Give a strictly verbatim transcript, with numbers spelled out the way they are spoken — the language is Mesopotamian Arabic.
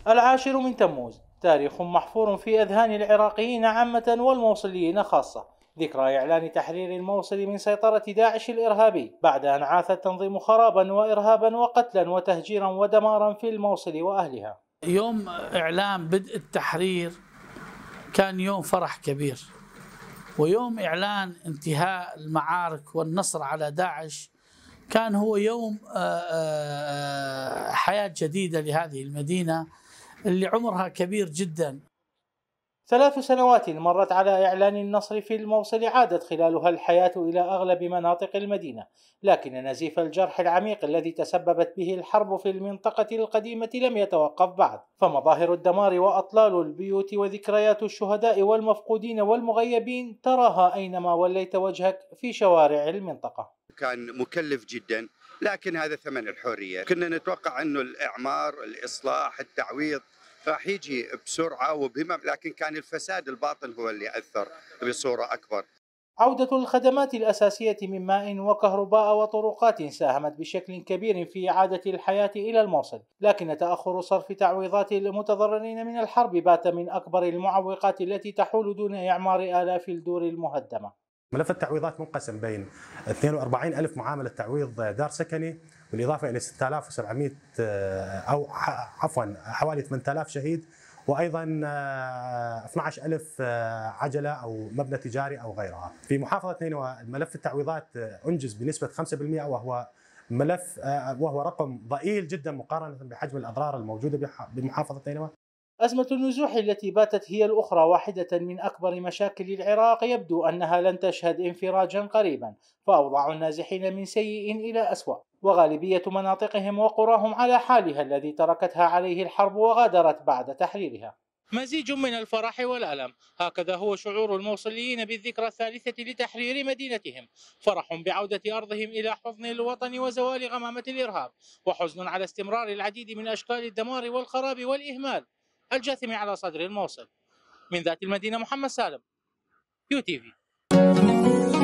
العاشر من تموز تاريخ محفور في أذهان العراقيين عامة والموصليين خاصة، ذكرى إعلان تحرير الموصل من سيطرة داعش الإرهابي بعد أن عاث التنظيم خرابا وإرهابا وقتلا وتهجيرا ودمارا في الموصل وأهلها. يوم إعلان بدء التحرير كان يوم فرح كبير، ويوم إعلان انتهاء المعارك والنصر على داعش كان هو يوم حياة جديدة لهذه المدينة اللي عمرها كبير جدا. ثلاث سنوات مرت على إعلان النصر في الموصل، عادت خلالها الحياة إلى أغلب مناطق المدينة، لكن نزيف الجرح العميق الذي تسببت به الحرب في المنطقة القديمة لم يتوقف بعد، فمظاهر الدمار وأطلال البيوت وذكريات الشهداء والمفقودين والمغيبين تراها أينما وليت وجهك في شوارع المنطقة. كان مكلف جدا، لكن هذا ثمن الحرية. كنا نتوقع أنه الإعمار، الإصلاح، التعويض راح يجي بسرعة وبهمم، لكن كان الفساد الباطن هو اللي أثر بصورة أكبر. عودة الخدمات الأساسية من ماء وكهرباء وطرقات ساهمت بشكل كبير في إعادة الحياة إلى الموصل، لكن تأخر صرف تعويضات المتضررين من الحرب بات من أكبر المعوقات التي تحول دون إعمار آلاف الدور المهدمة. ملف التعويضات منقسم بين اثنين وأربعين ألف معاملة تعويض دار سكني، بالإضافة إلى ستة آلاف وسبعمئة أو عفوا حوالي ثمانية آلاف شهيد، وأيضا اثني عشر ألف عجلة أو مبنى تجاري أو غيرها. في محافظة نينوى ملف التعويضات أنجز بنسبة خمسة بالمئة، وهو ملف وهو رقم ضئيل جدا مقارنة بحجم الأضرار الموجودة بمحافظة نينوى. أزمة النزوح التي باتت هي الأخرى واحدة من أكبر مشاكل العراق، يبدو أنها لن تشهد انفراجا قريبا، فأوضاع النازحين من سيء إلى أسوأ، وغالبية مناطقهم وقراهم على حالها الذي تركتها عليه الحرب وغادرت بعد تحريرها. مزيج من الفرح والألم، هكذا هو شعور الموصليين بالذكرى الثالثة لتحرير مدينتهم، فرح بعودة أرضهم إلى حضن الوطن وزوال غمامة الإرهاب، وحزن على استمرار العديد من أشكال الدمار والخراب والإهمال الجاثم على صدر الموصل. من ذات المدينة محمد سالم، يو تي في.